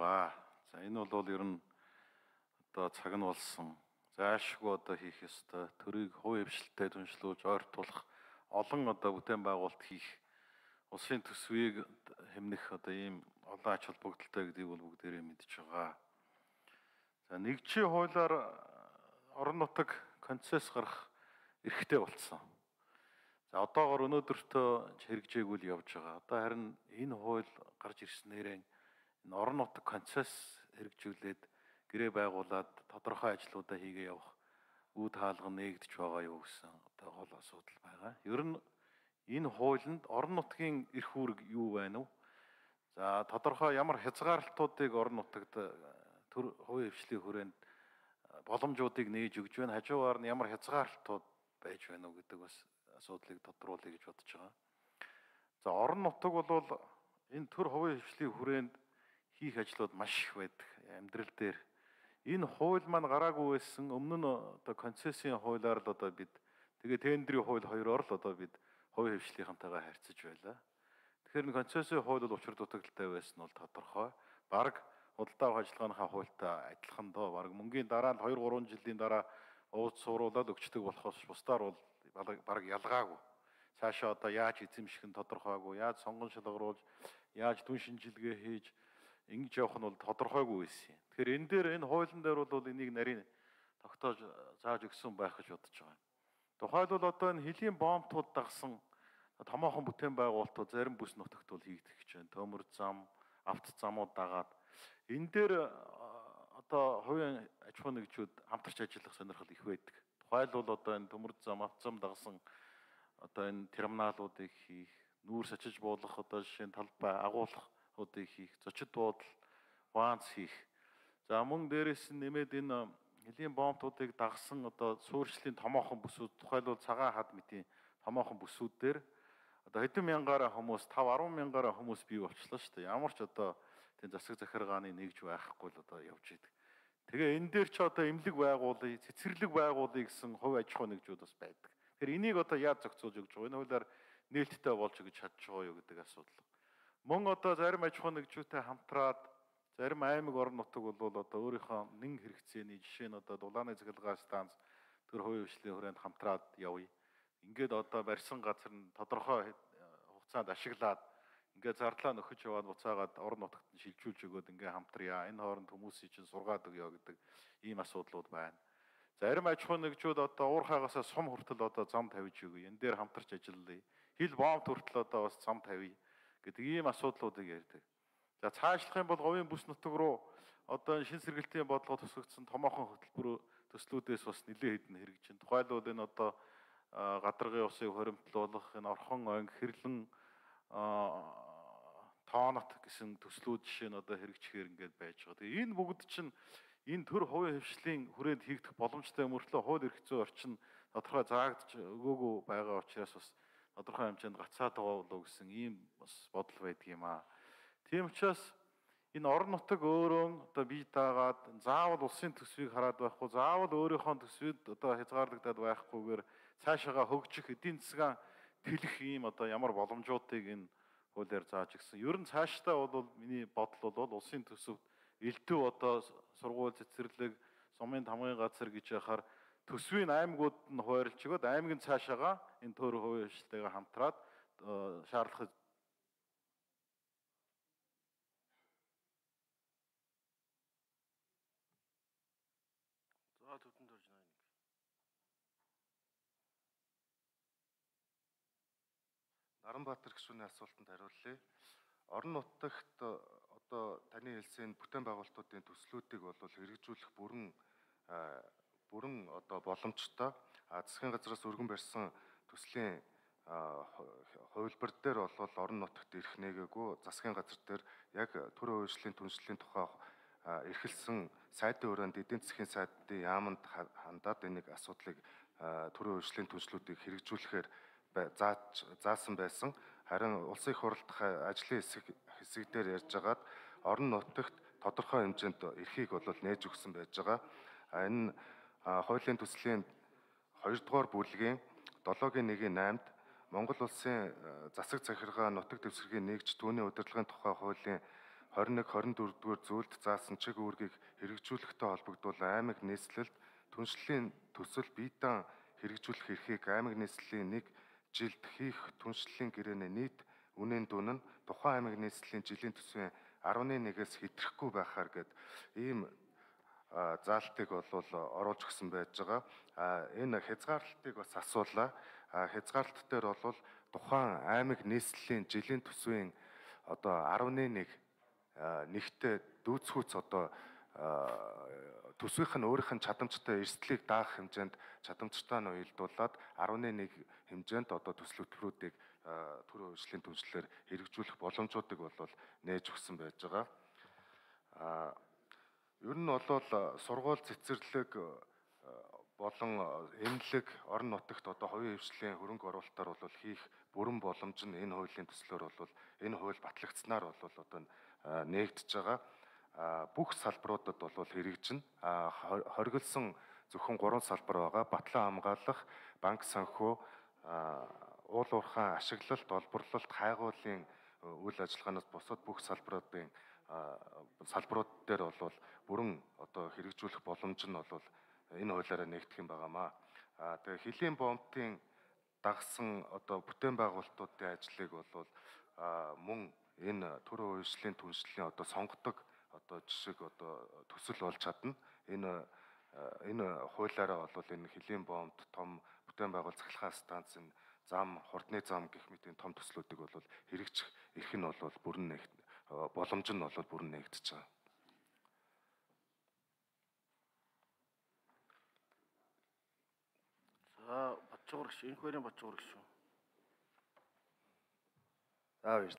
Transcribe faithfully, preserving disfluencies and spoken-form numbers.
байгаа. За энэ бол ер нь одоо цаг нь болсон. Заашгүй одоо хийх ёстой. Төрийг хувь хвшилтэд түншлүүлж ойртуулах олон одоо бүтээн байгуулалт хийх улсын төсвийг хэмнэх одоо ийм олон ач холбогдолтой гэдгийг бол бүгдээрээ мэдж байгаа. За нэгжийн хуулиар орон нутаг концесс гарах эрхтэй болсон. За одоогоор өнөөдөртөө хэрэгжээгүй л явж байгаа. Одоо харин энэ хууль гарч ирснээрээ энэ орон нутаг концесс хэрэгжүүлээд гэрээ байгуулад тодорхой ажлуудаа хийгээ явах үе хаалга нээгдэж байгаа юу гэсэн одоо гол асуудал байгаа. Ер нь энэ хуулинд орон нутгийн эрх үүрэг юу байна вэ? За тодорхой ямар хязгаарлалтуудыг орон нутагт төр хувийн хвшлийн хүрээнд боломжуудыг нээж өгж байна. Хажуугаар нь ямар хязгаарлалтууд байж байна уу гэдэг бас асуудлыг тодруулъя гэж бодож байгаа. За орон нутаг бол энэ төр хувийн хвшлийн хүрээнд хийх ажлууд маш их байдаг. Амьдрал дээр энэ хууль маань гараагүй байсан өмнө нь одоо концессийн хуулиар л одоо бид тэгээ тендерийн хууль хоёроор л одоо бид хувийн хвшлийнхантайгаа харьцаж байлаа. Тэгэхээр энэ концессийн хууль бол учир дутагдaltaй байсан нь бол тодорхой. Бараг худалдаа авах ажиллагааныхаа хуультай адилхан доо. Бараг мөнгөний дараа нь хоёр гурван жилийн дараа ууц сууруулаад өгчдөг болохоос бусдаар бол бараг ялгаагүй. Цаашаа одоо яаж эзэмших нь тодорхойгүй, яаж сонгон шалгаруулж, яаж дүн шинжилгээ хийж ингэж явах нь бол тодорхойгүй байсан юм. Тэгэхээр энэ дээр энэ хуулийн дээр бол энийг нарийн тогтоож зааж өгсөн байх гэж бодож байгаа. Тухайлбал одоо энэ хөлийн бомбтууд дагсан томоохон бүтээн байгуулалтууд зарим бүс нутагт бол хийгдэх гэж байна. Төмөр зам, авто замууд дагаад энэ дээр одоо хувийн аж ахуй нэгжүүд хамтарч ажиллах сонирхол их байдаг. Тухайлбал одоо энэ төмөр зам, авто зам дагсан одоо энэ терминалуудыг хийх, нүүрс очиж буулгах одоо жишээ нь талбай агуулгуудыг хийх, зочид буудал, ванц хийх. За мөн дээрээс нь нэмээд энэ хөлийн бомбтуудыг дагсан одоо суурьшлийн томоохон бүсүүд, тухайлбал цагаан хад мэтийн томоохон бүсүүд дээр одоо хэдэн мянгаараа хүмүүс, тавь арван мянгаараа хүмүүс бий болчихлоо шүү дээ. Ямар ч одоо тийм засаг захиргааны нэгж байхгүй л одоо явж идэг. Тэгээ энэ дээр ч одоо эмнэлэг байгуулъя, цэцэрлэг байгуулъя гэсэн хувь аж ахуй нэгжүүд бас байдаг. Тэгэхээр энийг одоо яаж зохицуулж өгч байгаа? Энэ хуулиар нээлттэй болж өгч чадж байгаа юу гэдэг асуудал. Мөн одоо зарим аж ахуй нэгжүүдтэй хамтраад зарим аймаг орон нутаг бол одоо өөрийнхөө нэн хэрэгцээний жишээ нь одоо дулааны цахилгаан станц төр хувийн хвшлийн хүрээнд хамтраад явъя. Ингээд одоо барьсан газар нь тодорхой хугацаанд ашиглаад ингээд зардлаа нөхөж яваад буцаагаад орон нутагт нь шилжүүлж өгөөд ингээд хамтръя. Энэ хооронд хүмүүсийг чинь сургаад өгье гэдэг ийм асуудлууд байна. Зарим аж ахуй нэгжүүд одоо уур хаагасаа сум хүртэл одоо зам тавьж өгье. Энэ дээр хамтарч ажиллая. Хил бомб хүртэл одоо бас зам тавья гэдэг ийм асуудлуудыг ярьдаг. За цаашлах юм бол говийн бүс нутаг руу одоо шин сэргэлтийн бодлого тусгагдсан томоохон хөтөлбөр төслүүдээс бас нэлээд хэдэн хэрэгжин. Тухайлбал энэ одоо гадаргын усыг хоримтлуулах, энэ орхон онг, хэрлэн тоонот гэсэн төслүүд жишээ нь одоо хэрэгжихээр ингээд байж байгаа. Тэгээ энэ бүгд чинь энэ төр хувийн хвшлийн хүрээнд хийгдэх боломжтой мөртлөө хууль эрх зүйн орчин тодорхой заагдж өгөөгүй байгаа учраас бас тодорхой хэмжээнд гацаад байгаа болов гэсэн ийм бас бодол байдаг юм аа. Тийм учраас энэ орон нутаг өөрөө одоо бие даагаад заавал улсын төсвийг хараад байхгүй, заавал өөрийнхөө төсвид одоо хязгаарлагдаад байхгүйгээр цаашаага хөгжих эдийн засгийн тэлэх ийм одоо ямар боломжуудыг энэ хуулиар зааж өгсөн. Ер нь цаашдаа бол миний бодол бол улсын төсөвт элдв одоо сургууль, цэцэрлэг, сумын тамгын газар гэж яхаар төсвийн аймагуд нь хуваарлж өгöd аймгийн цаашаага энэ төр хувийн хвшлтэйгээ хамтраад шаардлагыг Наранбаатар гишүүний асуултанд хариулъя. Орон нутагт одоо таны хэлсэн бүтээн байгуулалтуудын төслүүдийг бол хэрэгжүүлэх бүрэн бүрэн одоо боломжтой. Засгийн газраас өргөн барьсан төслийн хувилбар дээр бол орон нутагт ирэх нээгээгүй засгийн газар дээр яг төр хувийн хвшлийн түншлэлийн тухай эрхэлсэн сайдын өрөөнд эдийн засгийн сайдын яамд хандаад энийг асуудлыг төр хувийн хвшлийн түншлүүдийг хэрэгжүүлэхээр зааж заасан байсан. Харин улсын их хурлдах ажлын хэсэг хэсэг дээр ярьж байгаад орон нутагт тодорхой хэмжээнд эрхийг бол нээж өгсөн байж байгаа. Энэ хуулийн төслийн хоёрдугаар бүлгийн долоогийн нэгin наймд Монгол улсын засаг захиргаа нутаг дэвсгэрийн нэгж түүний удирдлагын тухай хуулийн хорин нэг хорин дөрөв дугаар зүйлд заасан чиг үүргийг хэрэгжүүлэхтэй холбогдвол аймаг нийслэлд түншлэлийн төсөл бие даан хэрэгжүүлэх эрхийг аймаг нийслэлийн нэг жилд хийх түншлэлийн гэрээний нийт үнийн дүн нь тухайн аймаг нийслэлийн жилийн төсвийн арван нэгээс хэтрэхгүй байхаар гэд ийм заалтыг бол оруулж өгсөн байж байгаа. Энэ хязгаарлалтыг бас асуулаа. Хязгаарлалт дээр бол тухайн аймаг нийслэлийн жилийн төсвийн одоо арван нэг нэгтээ дүүцхүүц одоо төсвийнх нь өөрийнх нь чадамжтай эрсдлийг даах хэмжээнд чадамжтай нь уялдуулаад арван нэг хэмжээнд одоо төсөл хөтөлбөрүүдийг төрийн хувьчлалын түншлэлээр хэрэгжүүлэх боломжуудыг бол нээж өгсөн байж байгаа. Ер нь бол сургууль цэцэрлэг болон эмнэлэг орон нутагт одоо хувийн хвшлийн хөрөнгө оруулалтаар бол хийх бүрэн боломж нь энэ хуулийн төслөөр бол энэ хууль батлагдсанаар бол одоо нээгдэж байгаа. Бүх салбаруудад бол хэрэгжинэ. Хоригдсон зөвхөн гурван салбар байгаа. Батлан хамгаалах, банк санхүү, уул уурхайн ашиглалт, олборлолт, хайгуулын үйл ажиллагаанаас бусад бүх салбаруудын салбарууд дээр бол бүрэн одоо хэрэгжүүлэх боломж нь бол энэ хуулиараа нэгдэх юм байгаамаа. Тэгээ хөлийн бомбын дагсан одоо бүтээн байгуулалтуудын ажлыг бол мөн энэ төрийн хувьчлалын түншлэлийн одоо сонгодог одоо жишг одоо төсөл болж чадна. Энэ энэ хуулиараа бол энэ хөлийн бомбд том бүтээн байгуул цахилгаан станцын зам, хурдны зам гэх мэт том төслүүдийг бол хэрэгжих эрх нь бол бүрэн нэгт боломж нь бол бүрэн нэгдэж байгаа. За Батчуур гүш, энэ хоёрын Батчуур гүш шүү. За